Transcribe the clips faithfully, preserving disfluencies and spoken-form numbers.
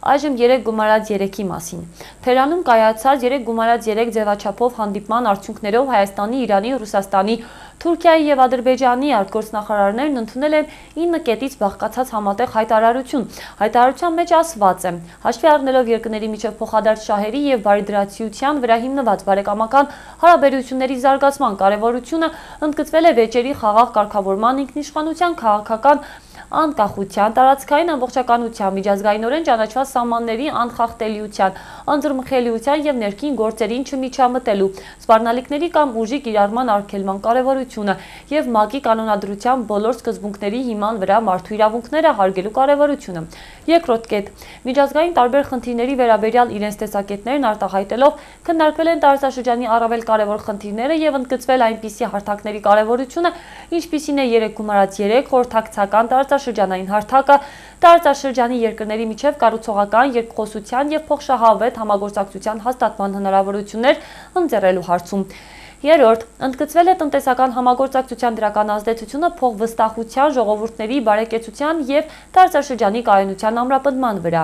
Այժմ երեք գումարած երեքի մասին։ Թերանում կայացած երեք գումարած երեք ձևաչափով հանդիպման արդյունքներով Հայաստանի, Իրանի, Ռուսաստանի, Թուրքիայի և Ադրբեջանի արտգործնախարարներն ընդունել են ինը կետից բաղկացած համատեղ հայտարարություն։ Հայտարարության մեջ ասված է. հաշվի առնելով երկրների միջև փոխադարձ շահերի և բարիդրացիության վրա հիմնված բարեկամական հարաբերությունների զարգացման կարևորությունը ընդգծվել է վեճերի խաղաղ կարգավորման, ինքնիշխանության, քաղաքական անկախության, տարածքային ամբողջականության, միջազգայինորեն ճանաչված սահմանների անխախտելիության, անձեռնմխելիության և ներքին գործերին չմիջամտելու, սպառնալիքների կամ ուժի կիրառման արգելման կարևորությունը և ՄԱԿ-ի կանոնադրության բոլոր սկզբունքների հիման վրա մարդու իրավունքները հարգելու կարևորությունը։ Երկրորդ կետ. միջազգային տարբեր խնդիրների վերաբերյալ իրենց տեսակետներն արտահայտելով քննարկվել են տարածաշրջանի առավել կարևոր խնդիրները և ընդգծվել այնպիսի հարթակների կարևորությունը, ինչպիսին է երեք գումարած երեք խորհրդակցական տարածաշրջանային հարթակը, տարածաշրջանի երկրների միջև կառուցողական, երկխոսության և փոխշահավետ համագործակցության հաստատման հնարավորություններ ընձեռելու հարցում։ Երրորդ. ընդգծվել է տնտեսական համագործակցության դրական ազդեցությունը փոխվստահության, ժողովուրդների բարեկեցության և տարածաշրջանի կայունության ամրապնդման վրա։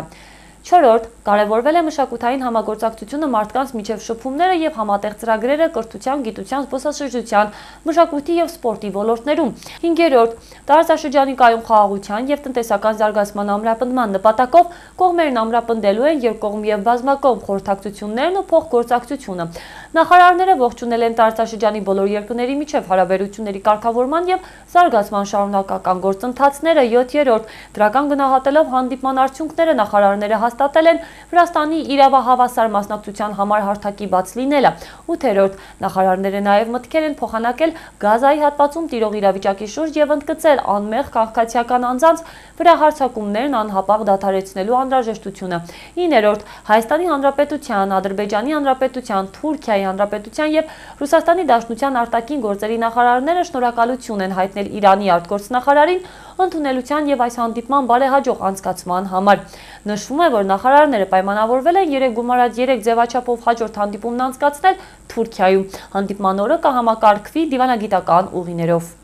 Չորրորդ. կարևորվել է մշակութային համագործակցությունը մարդկանց միջև շփումները և համատեղ ծրագրերը կրթության, գիտության, զբոսաշրջության, մշակույթի և սպորտի ոլորտներում։ Հինգերորդ. տարածաշրջանի կայուն խաղաղության և տնտեսական զարգացման ամրապնդման նպատակով կողմերն ամրապնդելու են երկկողմ և բազմակողմ խորհրդակցություններն ու փոխգործակցությունը։ Նախարարները ողջունել են տարածաշրջանի բոլոր երկրների միջև հարաբերությունների կարգավորման և զարգացման շարունակական գործընթացները։ Յոթերորդ. դրական գնահատելով հանդիպման արդյունքները, նախարարները հաստատել են Վրաստանի իրավահավասար մասնակցության համար հարթակի բաց լինելը։ Ութերորդ. նախարարները նաև մտքեր են փոխանակել Գազայի հատվածում տիրող իրավիճակի շուրջ և ընդգծել անմեղ քաղաքացիական անձանց վրա հարձակումներն անհապաղ դադարեցնելու անհրաժեշտությունը։ Իններորդ. Հայաստանի Հանրապետության, Ադրբեջանի Հանրապետության, Թուրքիայի Հանրապետության և Ռուսաստանի Դաշնության արտաքին գործերի նախարարները շնորհակալություն են հայտնել Իրանի արտգործնախարարին ընդունելության և այս հանդիպման բարեհաջող անցկացման համար։ Նշվում է, որ նախարարները պայմանավորվել են երեք գումարած երեք ձևաչափով հաջորդ հանդիպումն անցկացնել Թուրքիայում։ Հանդիպման օրը կհամակարգվի դիվանագիտական ուղիներով։